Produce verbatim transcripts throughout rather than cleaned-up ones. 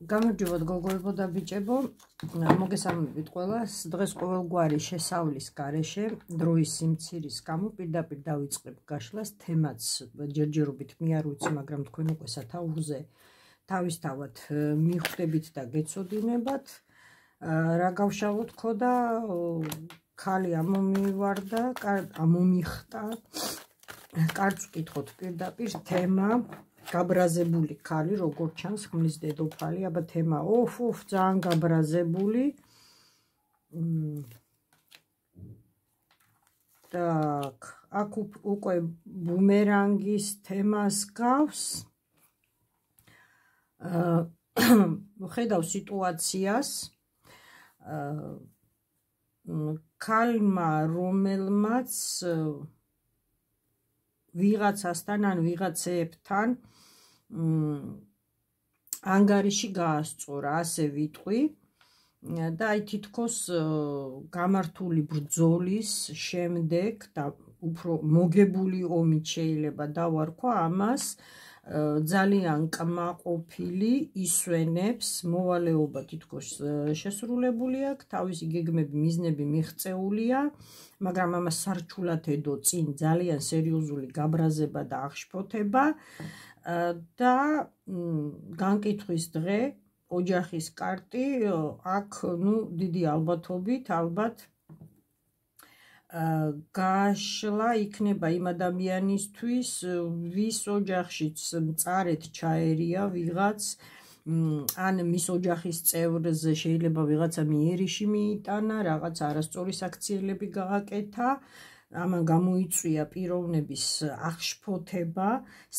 გამარჯობათ გოგოებო და ბიჭებო, მოგესალმებით ყველას. დღეს ყოველგვარი შესავლის გარეშე დროის სიმცირის გამო პირდაპირ დავიწყებ გაშლას. თემაც ჯერჯერობით მე არ ვიცი, მაგრამ თქვენ უკვე სათაურზე თავისთავად მიხვდებით და გეცოდინებათ. რა გავშალოთ ხო და ქალი ამომივარდა, ამომიხტა. კარგ ვკითხოთ პირდაპირ თემა გაბრაზებული ქალი, როგორც ჩანს, ხმლის დედოფალი, აბა თემა ოფ ოფ ძალიან გაბრაზებული. Так, აქ უკვე ბუმერანგის თემას გავს. ხედავ სიტუაციას. ქალმა, რომელმაც ვიღაცასთან ან ვიღაცეებთან ანგარიში გაასწორა, ასე ვიტყვი და აი თითქოს გამართული ბრძოლის შემდეგ და უფრო მოგებული ომით შეიძლება დავარქვა ამას, ძალიან კმაყოფილი ისვენებს, მოვალეობა თითქოს შესრულებული აქვს, თავისი გეგმები, მიზნები მიღწეულია, მაგრამ ამას სარჩულად ედო წინ ძალიან სერიოზული გაბრაზება და აღშფოთება და განკითხვის დღე, ოჯახის კარტი, აქ ნუ დიდი ალბათობით, ალბათ გაშლა იქნება იმ ადამიანისთვის, ვის ოჯახშიც მწარედ ჩაერია ვიღაც, ან მის ოჯახის წევრზე შეიძლება ვიღაცა მიერიში მიიტანა, რაღაც არასწორი საქციელები გააკეთა, ამან გამოიწვია პიროვნების აღშფოთება,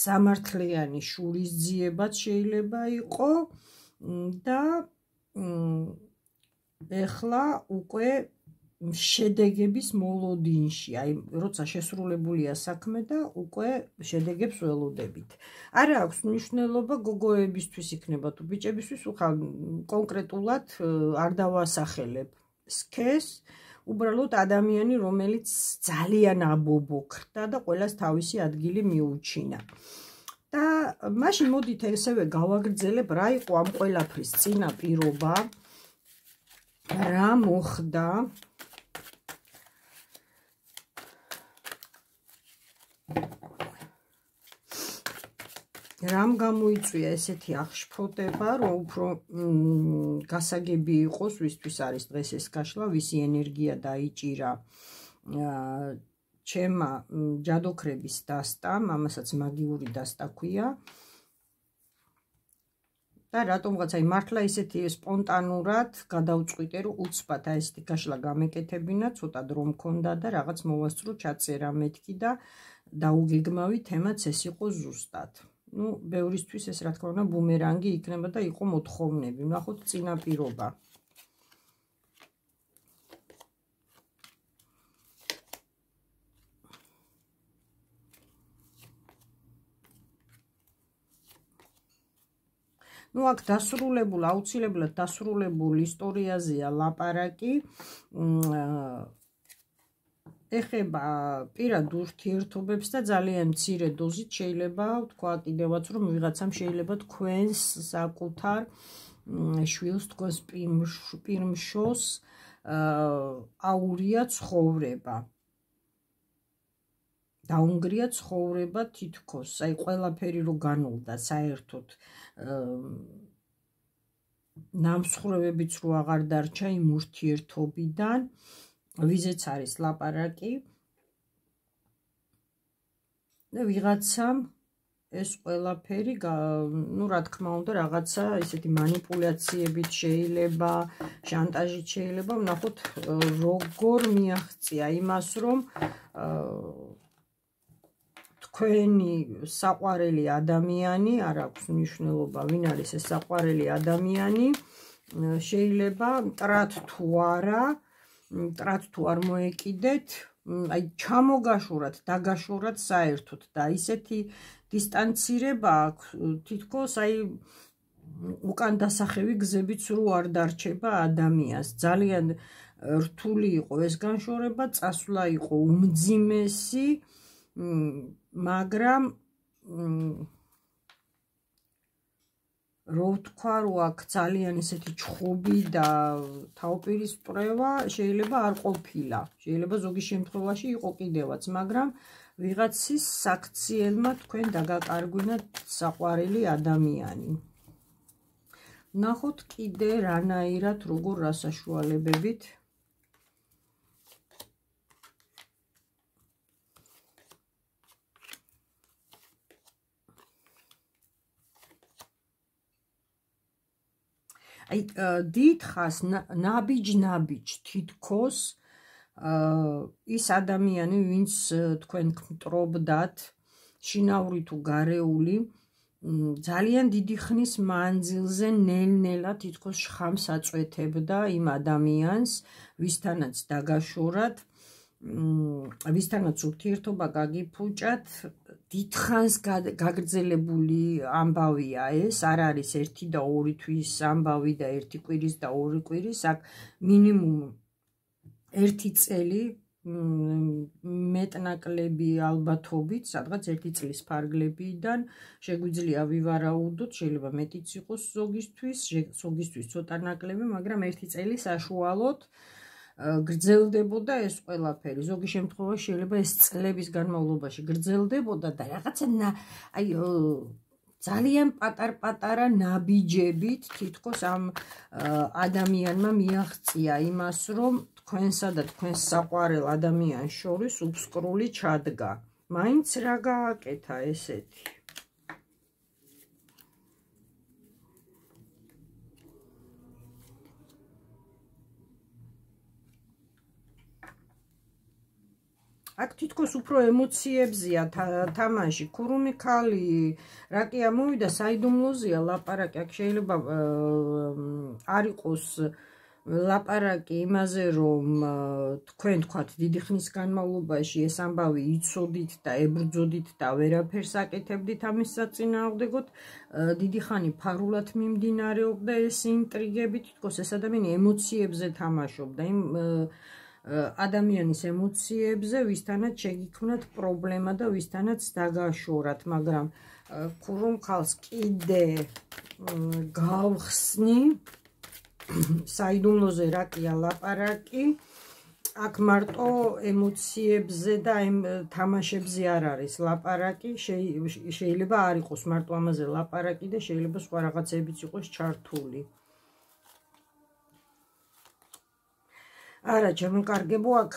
სამართლიანი შურისძიებაც შეიძლება იყო და ეხლა უკვე შედეგების მოლოდინში, აი, როცა შესრულებულია საქმე და უკვე შედეგებს ველოდებით. არა აქვს მნიშვნელობა გოგოებისთვის იქნება თუ ბიჭებისთვის, უხალ კონკრეტულად არ დავასახელებ სქეს, უბრალოდ ადამიანი, რომელიც ძალიან აბობოქრდა და ყველას თავისი ადგილი მიუჩინა. და მაშინ მოდით ესევე გავაგრძელებ, რა იყო ამ ყველაფრის წინაპირობა, რა მოხდა. რამ გამოიწვია ესეთი აღშფოთება, რომ უფრო გასაგები იყოს, ვისთვის არის დღეს ეს გაშლა, ვისი ენერგია დაიჭირა ჩემმა ჯადოქრების დასტამ, ამასაც მაგიური დასტა ქვია. და რატომღაც აი მართლა ისეთი სპონტანურად გადავწყვიტე, რომ უცბად აი ესეთი გაშლა გამეკეთებინა, ცოტა დრო მქონდა და რაღაც მოვასწრო ჩაწერა მეთქი და დაუგეგმავი თემაც ეს იყო ზუსტად. ნუ ბევრისთვის ეს რა თქმა უნდა ბუმერანგი იქნება და იყო მოთხოვნები. ვნახოთ წინაპირობა. ნუ აქ დასრულებულ, აუცილებლად დასრულებულ ისტორიაზეა ლაპარაკი. ეხება პირად ურთიერთობებს და ძალიან მცირე დოზით შეიძლება ვთქვა კიდევაც, რომ ვიღაცამ შეიძლება თქვენს საკუთარ შვილს, თქვენს პირმშოს აურია ცხოვრება. დაუნგრია ცხოვრება თითქოს, აი ყველაფერი რო განულდა საერთოდ ნამსხვრევებიც რო აღარ დარჩა იმ ურთიერთობიდან, ვიზეც არის ლაპარაკი და ვიღაცამ ეს ყველაფერი, ნუ რა თქმა უნდა, რაღაცა ისეთი манипуляციებით შეიძლება, შანტაჟით შეიძლება, ვნახოთ როგორ მიაღწია იმას, რომ თქვენი საყვარელი ადამიანი, არ აქვს მნიშვნელობა, ვინ არის ეს საყვარელი ადამიანი, შეიძლება მტრად თუ არა, მტრად თუ არ მოეკიდეთ, აი ჩამოგაშურათ, დაგაშურათ საერთოდ და ისეთი დისტანცირება აქვს, თითქოს აი უკან დასახევი გზებიც რო არ დარჩება ადამიანს. ძალიან რთული იყო ეს განშორება, წასვლა იყო უმძიმესი, მაგრამ რო ვთქვა, რომ აქ ძალიან ესეთი ჩხუბი და თავპირისპრევა შეიძლება არ ყოფილა. შეიძლება ზოგი შემთხვევაში იყო კიდევაც, მაგრამ ვიღაცის საქციელმა თქვენ დაგაკარგვინათ საყვარელი ადამიანი. ნახოთ კიდე რანაირად, როგორ რა საშუალებებით აი დიდხას ნაბიჯ-ნაბიჯ თითქოს ის ადამიანი, ვინც თქვენ გმტრობდათ, შინაური თუ გარეული, ძალიან დიდი ხნის მანძილზე ნელ-ნელა თითქოს შხამს აწვეთებდა იმ ადამიანს, ვისთანაც დაგაშორათ, ვისთანაც ურთიერთობა გაგიფუჭათ, დიდხანს გაგრძელებული ამბავია ეს, არ არის ერთი და ორი თვის ამბავი და ერთი კვირის და ორი კვირის, აქ მინიმუმ ერთი წელი მეტნაკლები ალბათობით, სადღაც ერთი წლის ფარგლებიდან შეგვიძლია ვივარაუდოთ, შეიძლება მეტიც იყოს ზოგისთვის, ზოგისთვის ცოტა ნაკლები, მაგრამ ერთი წელი საშუალოდ გრძელდებოდა ეს ყველაფერი. ზოგი შემთხვევაში შეიძლება ეს წლების განმავლობაში გრძელდებოდა და რაღაცა აი ძალიან პატარ-პატარა ნაბიჯებით თითქოს ამ ადამიანმა მიაღწია იმას, რომ თქვენსა და თქვენს საყვარელ ადამიანს შორის უფსკრული ჩადგა. მაინც რა გააკეთა ესეთი? აქ თითქოს უფრო ემოციებზია თამაში, ქურუმი ქალი, რა კი ამოვიდა, საიდუმლოზეა ლაპარაკი, აქ შეიძლება არ იყოს ლაპარაკი იმაზე, რომ თქვენ თქვათ დიდი ხნის განმავლობაში ეს ამბავი იცოდით და ებრძოდით და ვერაფერს აკეთებდით ამის საწინააღმდეგოდ, დიდი ხანი ფარულად მიმდინარეობდა ეს ინტრიგები, თითქოს ეს ადამიანი ემოციებზე თამაშობდა, იმ ადამიანის ემოციებზე, ვისთანაც შეგიქმნათ პრობლემა და ვისთანაც დაგაშორათ, მაგრამ ქურუმ ქალს კიდე გავხსნი, საიდუმლოზე რა კია ლაპარაკი, აქ მარტო ემოციებზე და იმ თამაშებზე არ არის ლაპარაკი, შეიძლება არ იყოს მარტო ამაზე ლაპარაკი და შეიძლება სხვა რაღაცებიც იყოს ჩართული. არა, ჩემკარგებო, აქ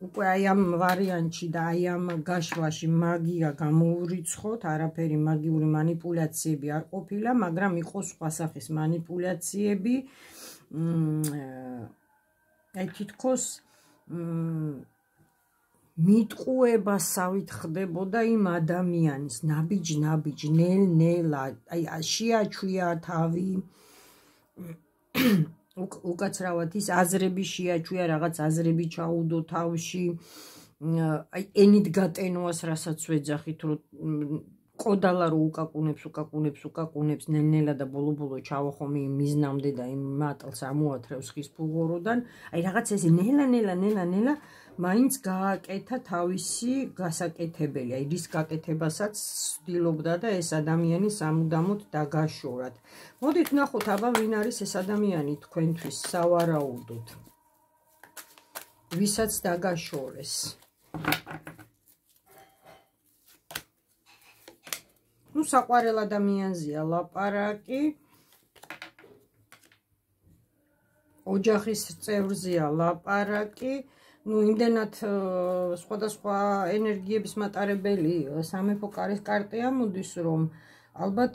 უკვე აი ამ ვარიანტში და აი ამ გაშლაში მაგია გამოურიცხოთ, არაფერი მაგიური მანიპულაციები არ ყოფილა, მაგრამ იყო სხვა სახის მანიპულაციები, აი თითქოს მიტყუებასავით ხდებოდა იმ ადამიანის ნაბიჯ-ნაბიჯ, ნელ-ნელა, აი შეაჩვია თავი, უკაცრავად ის აზრები შეაჩვია, რაღაც აზრები ჩაუდო თავში, აი ენით გატენვას რასაც ვეძახით, რომ ყოდალა რო უკაკუნებს, უკაკუნებს, უკაკუნებს, ნელ-ნელა და ბოლო-ბოლო ჩავახომი იმ მიზნამდე და იმ მატლს ამოათრევს ხის ფუღუროდან, აი რაღაც ეს ნელა-ნელა, ნელა-ნელა მაინც გააკეთა თავისი გასაკეთებელი, აი რის გაკეთებასაც ცდილობდა და ეს ადამიანი სამუდამოდ დაგაშორათ. მოდით ნახოთ, აბა ვინ არის ეს ადამიანი თქვენთვის სავარაუდოდ, ვისაც დაგაშორეს. ნუ საყვარელ ადამიანზეა ლაპარაკი, ოჯახის წევრზეა ლაპარაკი, ნუ იმდენად სხვადასხვა ენერგიების მატარებელი სამეფო კარის კარტი ამოდის, რომ ალბათ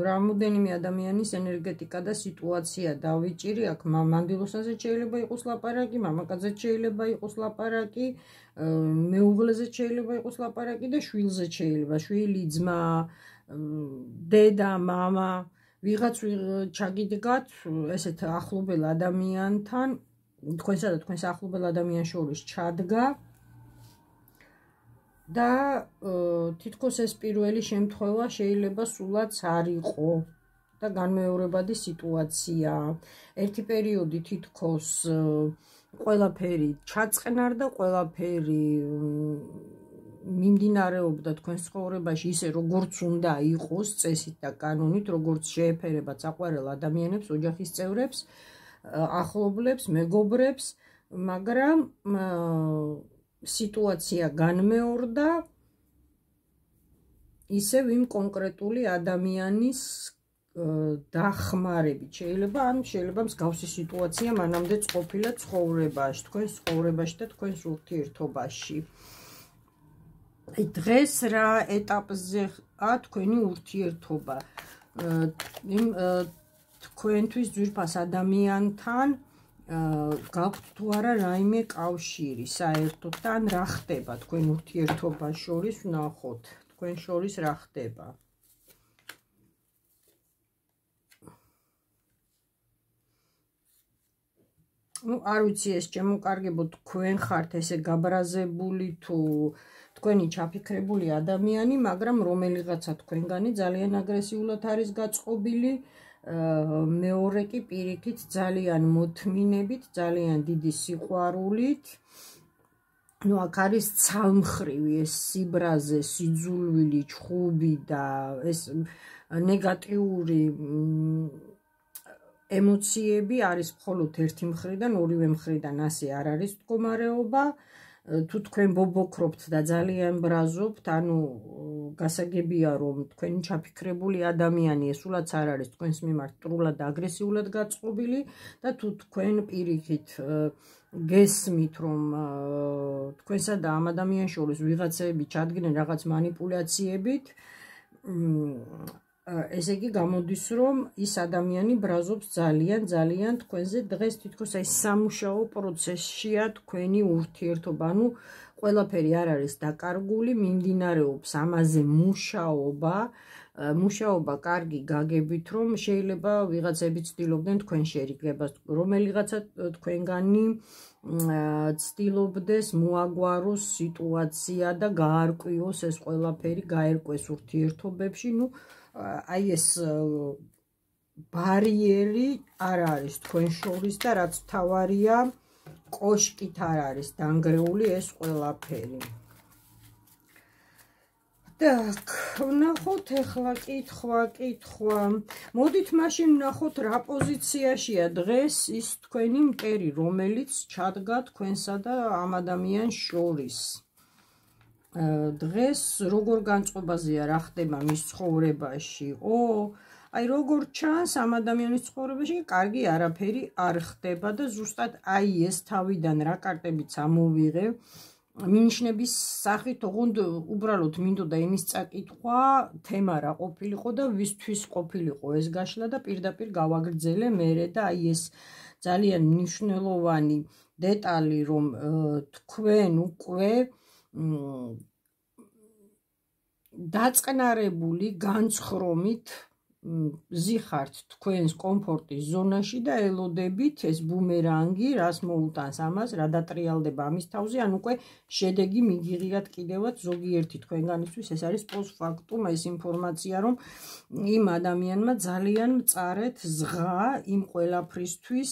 რამოდენიმე ადამიანის ენერგეტიკა და სიტუაცია დავიჭირი, აქ მანდილოსაზე შეიძლება იყოს ლაპარაკი, მამაკაცზე შეიძლება იყოს ლაპარაკი, მეუღლეზე შეიძლება იყოს ლაპარაკი და შვილზე შეიძლება, შვილი, ძმა, დედა, მამა, ვიღაც ჩაგიდგათ ესეთ ახლობელ ადამიანთან, თქვენსა და თქვენს ახლობელ ადამიანს შორის ჩადგა და თითქოს ეს პირველი შემთხვევა შეიძლება სულაც არ იყო და განმეორებადი სიტუაცია. ერთი პერიოდი თითქოს ყველაფერი ჩაწყნარდა, ყველაფერი მიმდინარეობდა თქვენს ცხოვრებაში ისე როგორც უნდა იყოს წესით და კანონით, როგორც შეეფერება საყვარელ ადამიანებს, ოჯახის წევრებს, ახლობლებს, მეგობრებს, მაგრამ სიტუაცია განმეორდა ისევ იმ კონკრეტული ადამიანის დახმარებით. შეიძლება ან შეიძლება მსგავსი სიტუაცია მანამდე ყოფილა ცხოვრებაში, თქვენს ცხოვრებაში და თქვენს ურთიერთობაში. დღეს რა ეტაპზეა თქვენი ურთიერთობა? იმ თქვენთვის ძვირფას ადამიანთან გაქვთ თუ არა რაიმე კავშირი საერთოდ და ან რა ხდება თქვენ ურთიერთობას შორის, ვნახოთ თქვენ შორის რა ხდება. ну არ ვიცი ეს შემოკარგებო თქვენ ხართ ესე გაბრაზებული თუ თქვენი ჩაფიქრებული ადამიანი, მაგრამ რომელიღაცა თქვენგანი ძალიან აგრესიულად არის გაწყობილი, მეორე კი პირიქით ძალიან მოთმინებით, ძალიან დიდი სიყვარულით. ну აქ არის ცალმხრივი ეს სიბრაზე, სიძულვილი, ჩხუბი და ეს ნეგატიური ემოციები არის მხოლოდ ერთი მხრიდან, ორივე მხრიდან ასე არ არის მდგომარეობა. თუ თქვენ ბობოქრობთ და ძალიან ბრაზობთ, ანუ გასაგებია რომ თქვენი ჩაფიქრებული ადამიანი ესულაც არ არის თქვენს მიმართ ტრულად და აგრესიულად გაწყობილი და თუ თქვენ პირიქით გესმით რომ თქვენსა და ამ ადამიანის შორის ვიღაცები ჩადგნენ რაღაც манипуляციებით, ესე იგი გამოდის რომ ის ადამიანი ბრაზობს ძალიან ძალიან თქვენზე. დღეს თითქოს აი სამუშაო პროცესშია თქვენი ურთიერთობა, ანუ ყველაფერი არ არის დაკარგული, მიმდინარეობს ამაზე მუშაობა. მუშაობა კარგი გაგებით რომ შეიძლება ვიღაცები ცდილობდნენ თქვენ შერიგებას, რომელიღაცა თქვენგანი ცდილობდეს მოაგვაროს სიტუაცია და გაარკვიოს ეს ყველაფერი, გაერკვეს ურთიერთობებში. ну აი ეს ბარიერი არ არის თქვენ შორის და რაც თავარია კოშკით არ არის დანგრეული ეს ყველაფერი. так, ვნახოთ ახლა კითხვა, კითხვა. მოდით მაშინ ვნახოთ რა პოზიციაშია დღეს ის თქვენი მტერი, რომელიც ჩადგა თქვენსა და ამ ადამიანს შორის. დღეს როგორ განწყობაზეა რა ხდება მის ცხოვრებაში? ო, აი როგორ ჩანს ამ ადამიანის ცხოვრებაში კარგი არაფერი არ ხდება და ზუსტად აი ეს თავიდან რა კარტებიც ამოვიღე მინიშნების სახით, ოღონდ უბრალოდ მინდოდა იმის წაკითხვა, თემა რა ყოფილიყო და ვისთვის ყოფილიყო ეს გაშლა და პირდაპირ გავაგრძელე მერე და აი ეს ძალიან მნიშვნელოვანი დეტალი რომ თქვენ უკვე დაწყნარებული განცხრომით ზიხართ თქვენს კომფორტის ზონაში და ელოდებით ეს ბუმერანგი რას მოუტანს ამას, რა დატრიალდება ამის თავზე, ან უკვე შედეგი მიგიღიათ კიდევაც ზოგიერთი თქვენგანისთვის. ეს არის პოსტფაქტუმ ეს ინფორმაცია რომ იმ ადამიანმა ძალიან მწარეთ ზღა იმ ყველაფრისთვის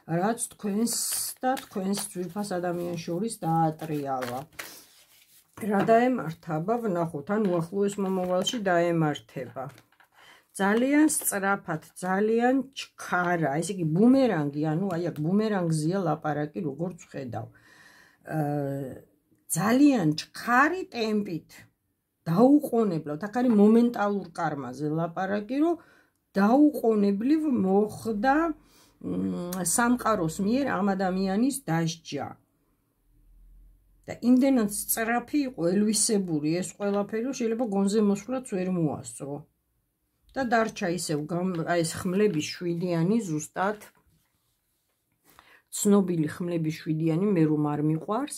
რაც თქვენს და თქვენს ძვირფას ადამიანს შორის დაატრიალა. რა დაემართება, ვნახოთ, ან უახლოეს მომავალში დაემართება. ძალიან სწრაფად, ძალიან ჩქარა, ესე იგი ბუმერანგი, ანუ აი აქ ბუმერანგზეა ლაპარაკი, როგორც ხედავ. ძალიან ჩქარი ტემპით დაუყოვნებლად, აქ არის მომენტალურ კარმაზე ლაპარაკი, რომ დაუყოვნებლივ მოხდა სამყაროს მიერ ამ ადამიანის დასჯა. და იმდენად სწრაფი იყო ელვისებური ეს ყველაფერი, რომ შეიძლება გონზე მოსვლაც ვერ მოასწრო. და დარჩა ისევ ეს ხმლების შვიდიანი ზუსტად ცნობილი ხმლების შვიდიანი მე რომ არ მიყვარს.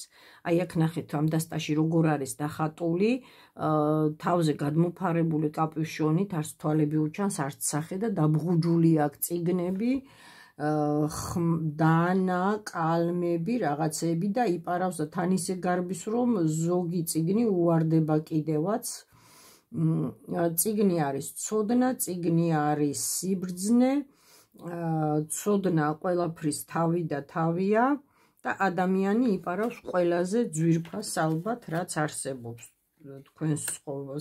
აი აქ ნახეთ ამ დასტაში როგორ არის დახატული, თავზე გადმოფარებული კაპუშონით, არც თვალები უჩანს, არც სახე და დაბღუჯული აქ წიგნები, დანა, კალმები, რაღაცები და იპარავს და თან ისე გარბის რომ ზოგი წიგნი უვარდება კიდევაც. წიგნი არის ცოდნა, წიგნი არის სიბრძნე, ცოდნა ყველაფრის თავი და თავია და ადამიანი იპარავს ყველაზე ძვირფას ალბათ რაც არსებობს. თქვენს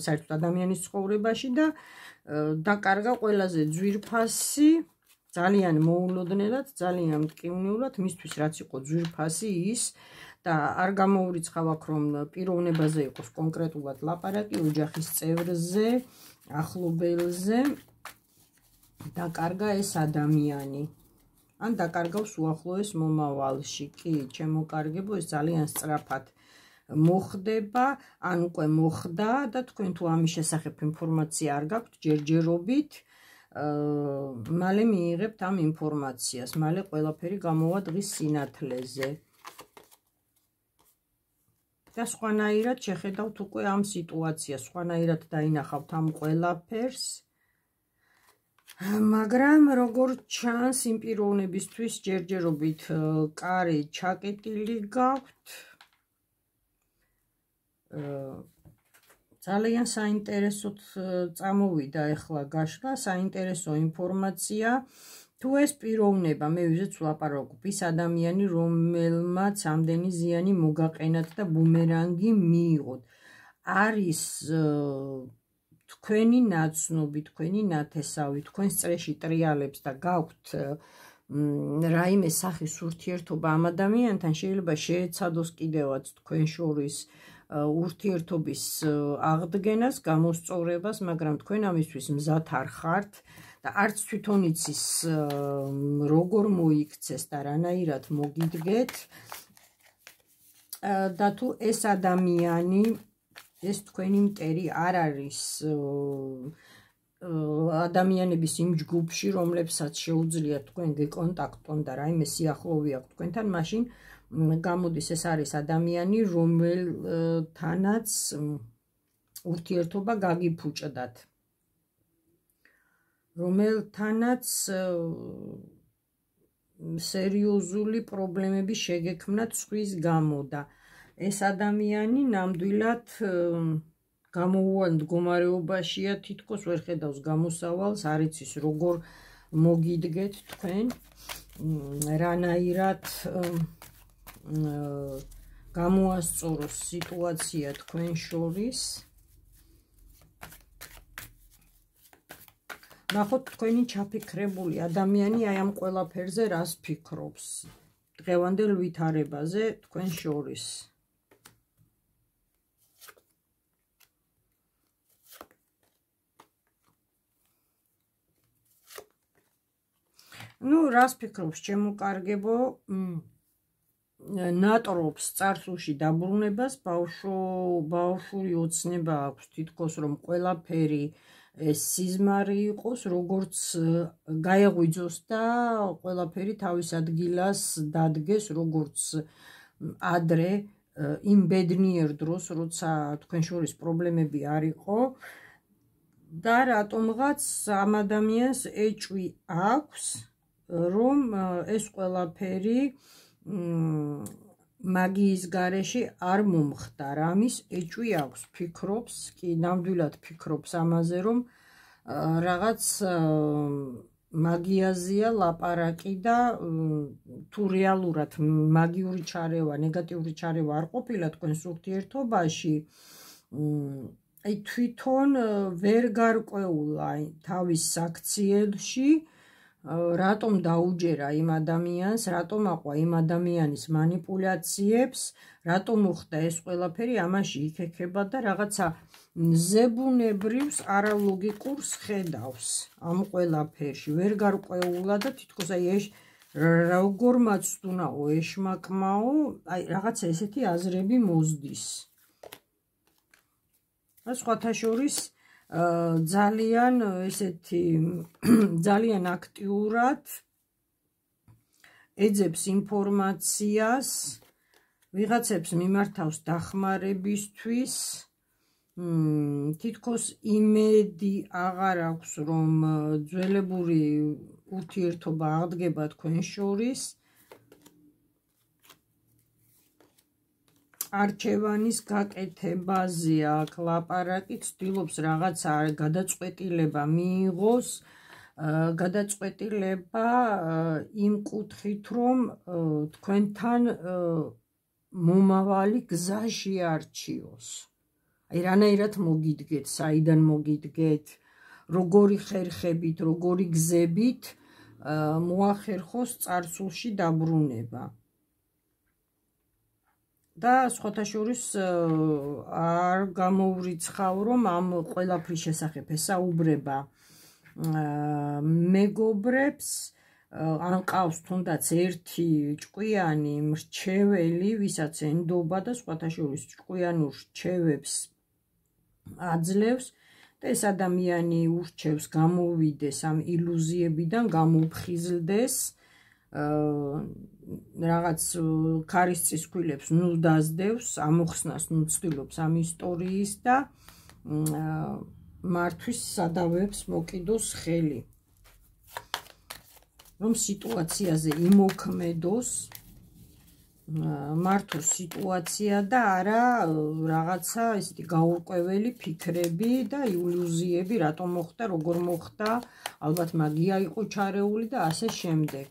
საერთოდ ადამიანის ცხოვრებაში და დაკარგა ყველაზე ძვირფასი, ძალიან მოულოდნელად, ძალიან მტკივნეულად, მისთვის რაც იყო ძვირფასი ის და არ გამოურიცხავ აქ რომ პიროვნებაზე იყოს კონკრეტულად ლაპარაკი, ოჯახის წევრზე, ახლობელზე დაკარგა ეს ადამიანი. ან დაკარგავს უახლოეს მომავალში. კი, ჩემო კარგებო, ეს ძალიან სწრაფად მოხდება, ან უკვე მოხდა და თქვენ თუ ამის შესახებ ინფორმაცია არ გაქვთ, ჯერჯერობით მალე მიიღებთ ამ ინფორმაციას, მალე ყველაფერი გამოვა დღის სინათლეზე. და სხვანაირად შეხედავთ უკვე ამ სიტუაციას, სხვანაირად დაინახავთ ამ ყველაფერს. მაგრამ როგორც ჩანს, იმ პიროვნებისთვის ჯერჯერობით კარი ჩაკეტილი გაქვთ. ძალიან საინტერესოდ წამოვიდა ახლა გაშლა, საინტერესო ინფორმაცია. თუ ეს პიროვნება, მე ვიზეც ვლაპარაკობ, ის ადამიანი, რომელმაც ამდენი ზიანი მოგაყენათ და ბუმერანგი მიიღოთ, არის თქვენი ნაცნობი, თქვენი ნათესავი, თქვენს წრეში ტრიალებს და გაქვთ რაიმე სახის ურთიერთობა ამ ადამიანთან, შეიძლება შეეცადოს კიდევაც თქვენ შორის ურთიერთობის აღდგენას, გამოსწორებას, მაგრამ თქვენ ამისთვის მზად არ ხართ და არც თვითონ იცის როგორ მოიქცეს და რანაირად მოგიდგეთ და თუ ეს ადამიანი, ეს თქვენი მტერი არ არის ადამიანების იმ ჯგუფში, რომლებსაც შეუძლიათ თქვენ გეკონტაქტონ და რაიმე სიახლოვე აქვს თქვენთან, მაშინ გამოდის ეს არის ადამიანი, რომელთანაც ურთიერთობა გაგიფუჭდათ, რომელთანაც სერიოზული პრობლემები შეგექმნათ სხვის გამო და ეს ადამიანი ნამდვილად გამოუვალ მდგომარეობაშია, თითქოს ვერ ხედავს გამოსავალს, არ იცის როგორ მოგიდგეთ თქვენ, რანაირად გამოასწოროს სიტუაცია თქვენ შორის. ნახოთ თქვენი ჩაფიქრებული ადამიანი აი ამ ყველაფერზე რას ფიქრობს დღევანდელ ვითარებაზე თქვენ შორის. ნუ რას ფიქრობს ჩემო კარგებო, ნატრობს წარსულში დაბრუნებას, ბავშვური ოცნება აქვს თითქოს რომ ყველაფერი ეს სიზმარი იყოს, როგორც გაეღვიძოს და ყველაფერი თავის ადგილას დადგეს, როგორც ადრე იმ ბედნიერ დროს, როცა თქვენ შორის პრობლემები არ იყო და რატომღაც ამ ადამიანს ეჭვი აქვს, რომ ეს ყველაფერი მაგიის გარეშე არ მომხდარ, ამის ეჭვი აქვს, ფიქრობს, კი ნამდვილად ფიქრობს ამაზე, რომ რაღაც მაგიაზეა ლაპარაკი და თუ რეალურად მაგიური ჩარევა, ნეგატიური ჩარევა არ ყოფილა თქვენს ურთიერთობაში, აი თვითონ ვერ გარკვეულა თავის საქციელში, რატომ დაუჯერა იმ ადამიანს, რატომ აყვა იმ ადამიანის манипуляციებს, რატომ მოხდა ეს ყველაფერი, ამაში იქექება და რაღაცა ზებუნებრივს არალოგიკურს ხედავს ამ ყველაფერში, ვერ გარკვეულა და თითქოს აი ეს როგორ მაცდუნაო, ეშმაკმაო, აი რაღაცა ესეთი აზრები მოზდის. და სხვათა შორის ძალიან ესეთი ძალიან აქტიურად ეძებს ინფორმაციას, ვიღაცებს მიმართავს დახმარებისთვის, თითქოს იმედი აღარ აქვს, რომ ძველებური ურთიერთობა აღდგება თქვენ შორის. არჩევანის გაკეთებაზე აქ ლაპარაკი, ცდილობს რაღაცა გადაწყვეტილება მიიღოს, გადაწყვეტილება იმ კუთხით, რომ თქვენთან მომავალი გზა შეარჩიოს. აი რანაირად მოგიდგეთ, საიდან მოგიდგეთ, როგორი ხერხებით, როგორი გზებით მოახერხოს წარსულში დაბრუნება. და სხვათა შორის არ გამოვრიცხავ, რომ ამ ყველაფრის შესახებ ესაუბრება მეგობრებს, ან ყავს თუნდაც ერთი ჭკვიანი მრჩეველი, ვისაც ენდობა და სხვათა შორის ჭკვიანურ რჩევებს აძლევს და ეს ადამიანი ურჩევს გამოვიდეს ამ ილუზიებიდან, გამოფხიზლდეს, რაღაც ქარის ცისქვილებს ნუ დაძდევს, ამოხსნას ნუ ცდილობს ამ ისტორიის და მართვის სადავეებს მოკიდოს ხელი. რომ სიტუაციაზე იმოქმედოს, მართოს სიტუაცია და არა რაღაცა ესეთი გაურკვეველი ფიქრები და ილუზიები, რატომ მოხდა, როგორ მოხდა, ალბათ მაგია იყო ჩარეული და ასე შემდეგ.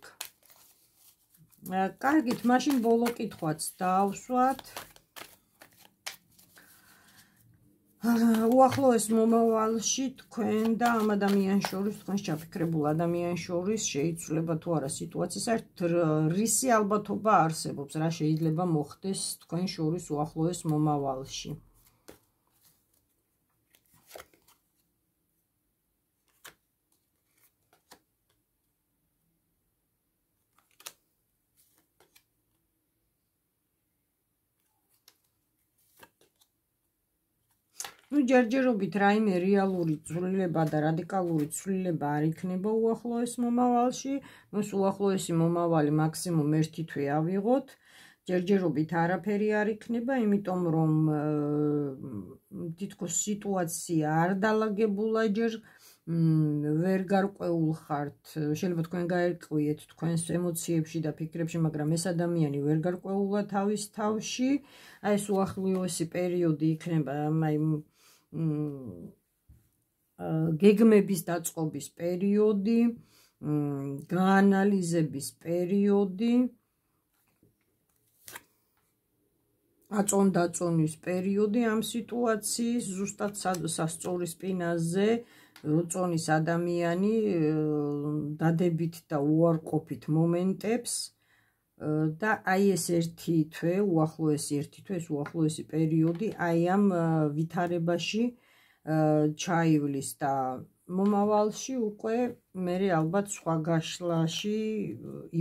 კარგით, მაშინ ბოლო კითხვაც დავსვათ. უახლოეს მომავალში თქვენ და ამ ადამიანს შორის, თქვენს ჩაფიქრებულ ადამიანს შორის შეიცვლება თუ არა სიტუაცია, საერთოდ რისი ალბათობა არსებობს, რა შეიძლება მოხდეს თქვენ შორის უახლოეს მომავალში. ნუ ჯერჯერობით რაიმე რეალური ცვლილება და რადიკალური ცვლილება არ იქნება უახლოეს მომავალში, ნუ უახლოესი მომავალი მაქსიმუმ ერთი თვე ავიღოთ, ჯერჯერობით არაფერი არ იქნება, იმიტომ რომ თითქოს სიტუაცია არ დალაგებულა ჯერ ვერ გარკვეულ ხართ, შეიძლება თქვენ გაერკვიეთ თქვენს ემოციებში და ფიქრებში, მაგრამ ეს ადამიანი ვერ გარკვეულა თავის თავში, აი ეს უახლოესი პერიოდი იქნება, აი გეგმების დაწყობის პერიოდი, გაანალიზების პერიოდი, აწონ-დაწონის პერიოდი ამ სიტუაციის, ზუსტად სასწორის სპინაზე როწონის ადამიანი დადებით და უარყოფით მომენტებს და აი ეს ერთი თვე, უახლოესი ერთი თვე, ეს უახლოესი პერიოდი, აი ამ ვითარებაში ჩაივლის და მომავალში უკვე მე ალბათ სხვა გაშლაში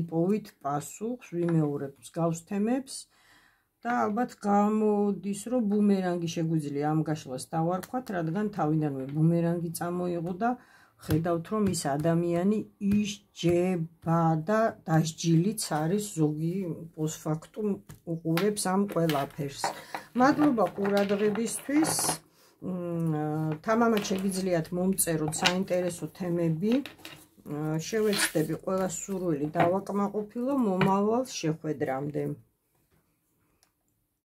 იპოვით პასუხს, ვიმეორებ მსგავს თემებს და ალბათ გამოდის, რომ ბუმერანგი შეგვიძლია ამ გაშლას დავარქვათ, რადგან თავიდანვე ბუმერანგი წამოიღო და ხედავთ, რომ ის ადამიანი ისჯება და დასჯილიც არის ზოგი პოსტფაქტუმ უყურებს ამ ყველაფერს. მადლობა ყურადღებისთვის. თამამად შეგიძლიათ მომწეროთ საინტერესო თემები. შევეცდები ყველა სურვილი დავაკმაყოფილო მომავალ შეხვედრამდე.